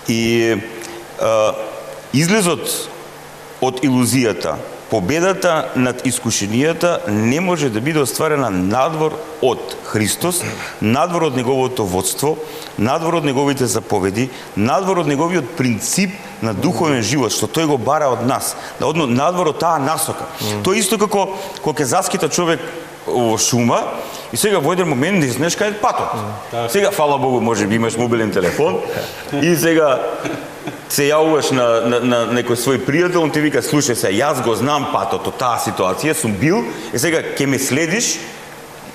И а, излезот од илузијата, победата над искушенијата не може да биде остварена надвор од Христос, надвор од неговото водство, надвор од неговите заповеди, надвор од неговиот принцип на духовен живот, што тој го бара од нас, да одно надвор од таа насока. Mm. Тоа исто како кога ќе заскита човек во шума и сега во еден момент не знаеш кај е патот. Сега, фала Богу, може би имаш мобилен телефон и сега се јавуваш на, на, на некој свој пријател, он ти вика, слушај се, јас го знам патот од таа ситуација, сум бил, и сега ќе ме следиш,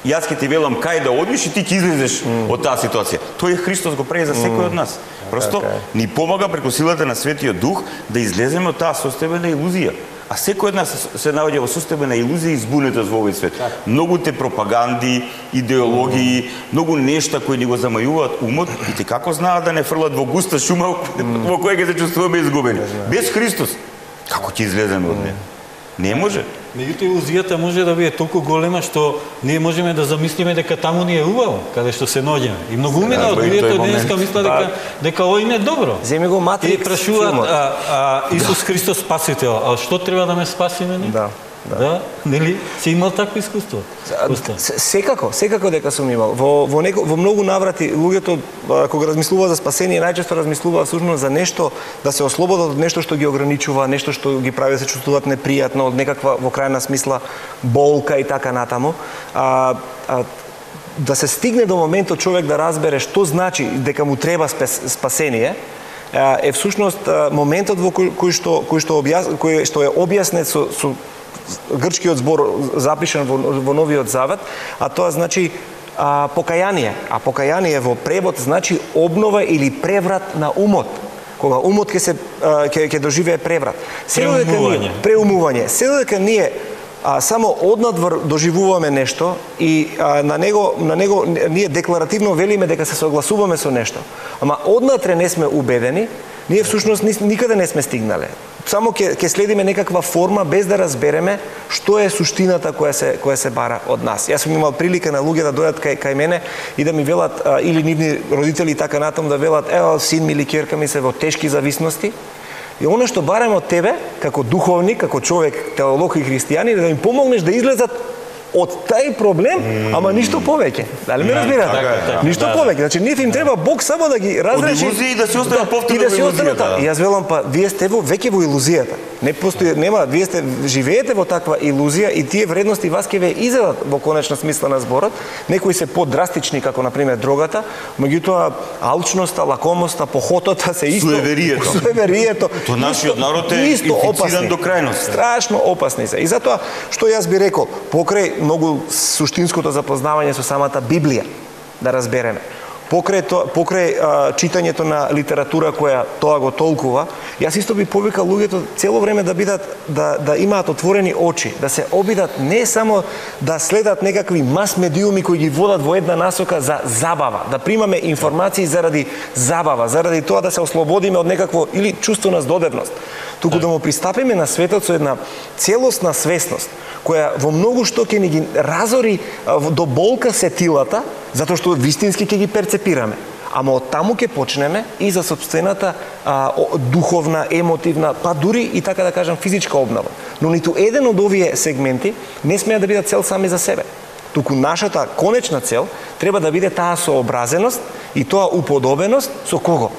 јас ќе ти велам кај да одиш и ти ќе излезеш mm. од таа ситуација. Тој Христос го прави за секој од нас. Просто okay. ни помага преку силата на Светиот Дух да излеземе од таа состојбена илузија. А секој од нас се наоѓа во состојбена илузија и збунетост во овој свет. Многу те пропаганди, идеологии, многу нешта кои ни го замајуваат умот и те како знаат да не фрлат во густа шума во која ќе се чувствуваме изгубени. Без Христос, како ќе излеземе од неа? Не може. Меѓутоа илузијата може да биде толку голема што ние можеме да замислиме дека таму ни е убаво, каде што се наоѓаме. И многу умина од луѓето денеска мислат дека дека ова им е добро. Земи го Матрикс. И прашуваат а, а, Исус Христос спасител, а што треба да ме спаси мене? Да. Да. да, нели си имал такво искуство? Секако, секако дека сум имал. Во во неко, во многу наврати луѓето кога размислуваат за спасение најчесто размислуваат всушност за нешто да се ослободат од нешто што ги ограничува, нешто што ги прави да се чувствуваат непријатно, од некаква во крајна смисла болка и така натаму. А, а да се стигне до моментот човек да разбере што значи дека му треба спасение, е всушност моментот во кој, кој што кој што објас, кој што е објаснет со, со грчкиот збор запишан во, во Новиот Завет, а тоа значи а, покаяние. А покаяние во превод значи обнова или преврат на умот. Кога умот ќе се ќе ќе доживее преврат. Седо дека ние преумување. Седо дека ние а, само однадвор доживуваме нешто и а, на него на него ние декларативно велиме дека се согласуваме со нешто. Ама однатре не сме убедени, ние всушност никаде не сме стигнале. Само ќе ќе следиме некаква форма без да разбереме што е суштината која се која се бара од нас. Јас сум имал прилика на луѓе да дојдат кај кај мене и да ми велат а, или нивни родители така натаму да велат ево син ми или ќерка ми се во тешки зависности. И оно што бараме од тебе како духовник, како човек, теолог и христијанин, да им помогнеш да излезат од тај проблем, mm. ама ништо повеќе. Дали ме разбирате? Така, така, ништо да, повеќе. Значи ние им треба Бог само да ги разреши. Од илузии да се останат повторно да, во илузијата. Да. И јас велам па вие сте во веќе во илузијата. Не постои нема, вие сте живеете во таква илузија и тие вредности вас ќе ве изедат во конечна смисла на зборот. Некои се подрастични како на пример дрогата, меѓутоа алчноста, лакомоста, похотота се исто. Суеверието. Суеверието. То нашиот народ е инфициран до крајност. Страшно опасни се. И затоа што јас би рекол, покрај многу суштинското запознавање со самата Библија, да разбереме. Покрај, то, покрај а, читањето на литература која тоа го толкува, јас исто би повикал луѓето цело време да бидат да да имаат отворени очи, да се обидат не само да следат некакви мас медиуми кои ги водат во една насока за забава, да примаме информации заради забава, заради тоа да се ослободиме од некакво или чувство на здодевност, туку да му пристапиме на светот со една целосна свесност која во многу што ќе ни ги разори до болка сетилата, затоа што вистински ќе ги перцепираме. Ама од таму ќе почнеме и за собствената а, духовна, емотивна, па дури и така да кажам физичка обнова. Но ниту еден од овие сегменти не смеа да бидат цел сами за себе. Туку нашата конечна цел треба да биде таа сообразеност и тоа уподобеност со кого?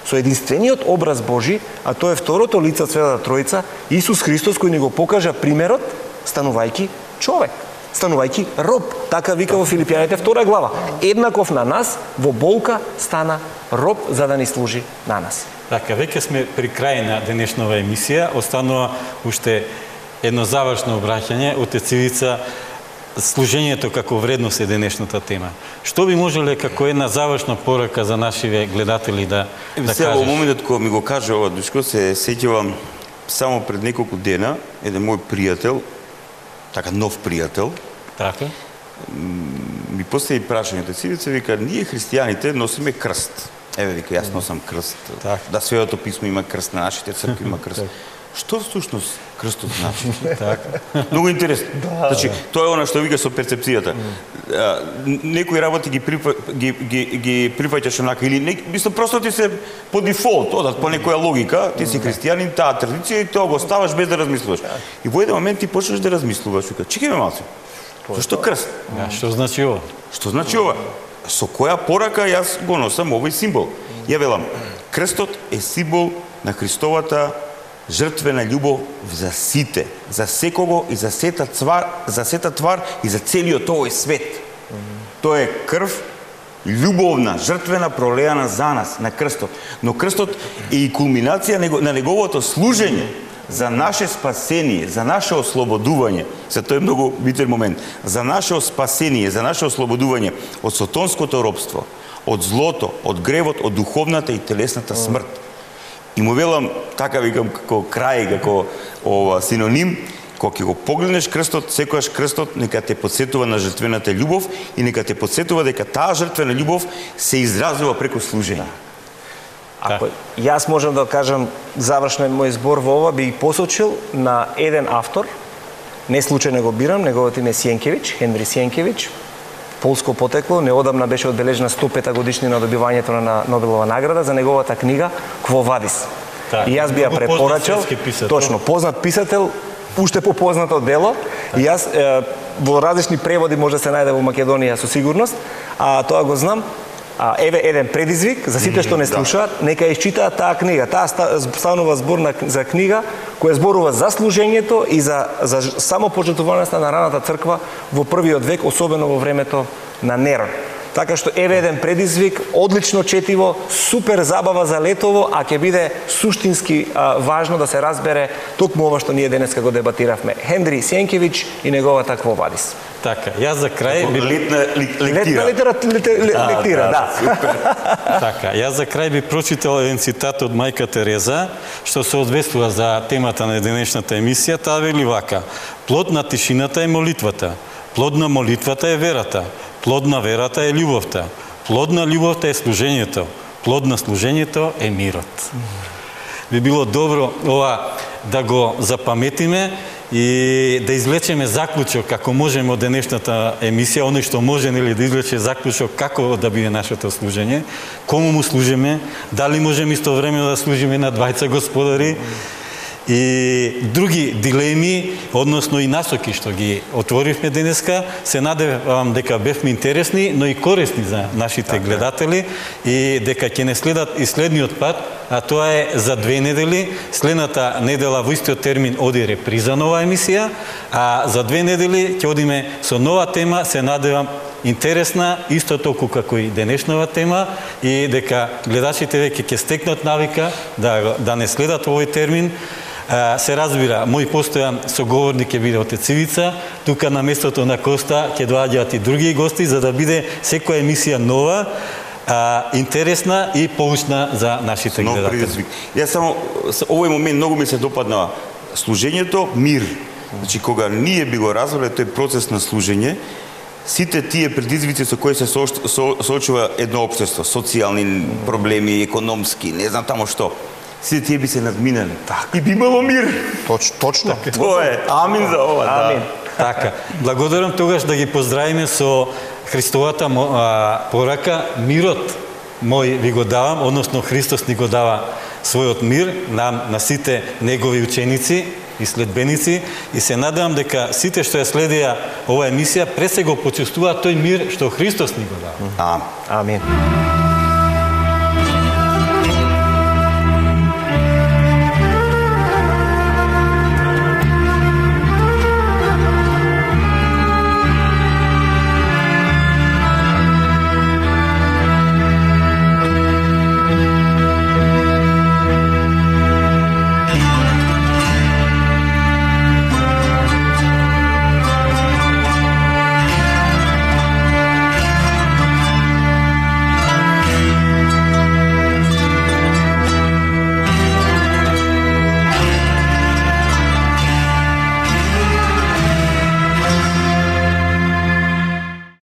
Со единствениот образ Божи, а тоа е второто лице од Светата Тројца, Исус Христос, кој ни го покажа примерот станувајќи човек, станувајќи роб. Така вика во Филипјаните втора глава. Еднаков на нас, во болка стана роб за да ни служи на нас. Така, веќе сме при крај на денешнова емисија. Останува уште едно завршно обраќање. Отец Ивица, служењето како вредност е денешната тема. Што би можеле како една завршна порака за нашиве гледатели да, да Сега, кажеш? во моментот кога ми го кажа ова душко, се сеќавам само пред неколку дена, еден мој пријател, така нов пријател, Така? ми постави прашањето, Цивица вика, ние христијаните носиме крст. Еве вика, јас носам крст. Так. Да, Светото писмо има крст, на нашите цркви има крст. Што всушност крстот значи? Така. Многу интересно. Да, значи, тоа е она што вика со перцепцијата. Mm. Некои работи ги припа, ги ги ги прифаќаш онака или не, мислам просто ти се по дефолт, одат по некоја логика, ти си христијанин, таа традиција и тоа го ставаш без да размислуваш. И во еден момент ти почнеш да размислуваш, вика, чекај ме малце. Зашто крст? Да, што значи ова? Што значи ова? Со која порака јас го носам овој символ? Ја велам, крстот е символ на Христовата жртвена љубов за сите, за секого и за сета твар, за сета твар и за целиот овој свет. Тоа е крв љубовна, жртвена, пролеана за нас на крстот. Но крстот е и кулминација на неговото служење за наше спасение, за наше ослободување. За тоа е многу битен момент. За наше спасение, за наше ослободување од сатонското робство, од злото, од гревот, од духовната и телесната смрт. И му велам, така викам, како крај, како ова синоним, кога ќе го погледнеш крстот, секогаш крстот нека те подсетува на жртвената љубов и нека те подсетува дека таа жртвена љубов се изразува преку служење. Ако јас можам да кажам завршен мој збор во ова, би посочил на еден автор, не случајно го бирам, неговото име е Сиенкевич, Хенри Сиенкевич, полско потекло, неодамна беше одбележена сто пета годишнина од добивањето на Нобелова награда за неговата книга Кво вадис. Так, и јас би ја препорачал, точно, познат писател, уште попознато дело, и јас е, во различни преводи може да се најде во Македонија со сигурност, а тоа го знам. А, еве еден предизвик за сите што не слушаат, нека ја исчитаат таа книга. Таа станува збор на, за книга која зборува за служењето и за, за само пожртвувањето на раната црква во првиот век, особено во времето на Нерон. Така што еве еден предизвик, одлично четиво, супер забава за летово, а ќе биде суштински а, важно да се разбере токму ова што ние денеска го дебатиравме. Хенри Сиенкевич и неговата Кво вадис. Така, јас за крај би летна лектира. Летна литера, литера, лектира, да. да. Така, јас за крај би прочитал еден цитат од мајка Тереза, што се одвестува за темата на денешната емисија. Таа вели вака: плод на тишината е молитвата, плод на молитвата е верата, плод на верата е љубовта, плод на љубовта е служењето, плод на служењето е мирот. Би било добро ова да го запаметиме и да извлечеме заклучок како можеме од денешната емисија, оној што може нели да извлече заклучок како да биде нашето служење, кому му служиме, дали можеме истовремено да служиме на двајца господари, и други дилеми, односно и насоки што ги отворивме денеска. Се надевам дека бевме интересни, но и корисни за нашите така гледатели и дека ќе не следат и следниот пат, а тоа е за две недели. Следната недела во истиот термин оди реприза нова емисија, а за две недели ќе одиме со нова тема. Се надевам интересна, исто толку како и денешнава тема, и дека гледачите веќе ќе стекнат навика да, да не следат овој термин. Се разбира, мој постојан соговорник ќе биде отец Ивица, тука на местото на Коста ќе доаѓаат и други гости, за да биде секоја емисија нова, а, интересна и поучна за нашите нов гледатели. Предизвик. Јас само, овој момент многу ми се допадна служењето, мир. Значи, кога ние би го развале тој процес на служење, сите тие предизвици со кои се соочува едно општество, социјални проблеми, економски, не знам тамо што, сите тие би се надминали. Так. И би имало мир. Точ, точно. Тоа е. Амин за ова. Амин. Да. Така, благодарам тогаш да ги поздравиме со Христовата а, порака. Мирот мој ви го давам, односно Христос ни го дава својот мир нам, на сите негови ученици и следбеници, и се надевам дека сите што ја следија ова емисија пред се го почувствуваат тој мир што Христос ни го дава. Амин. Амин.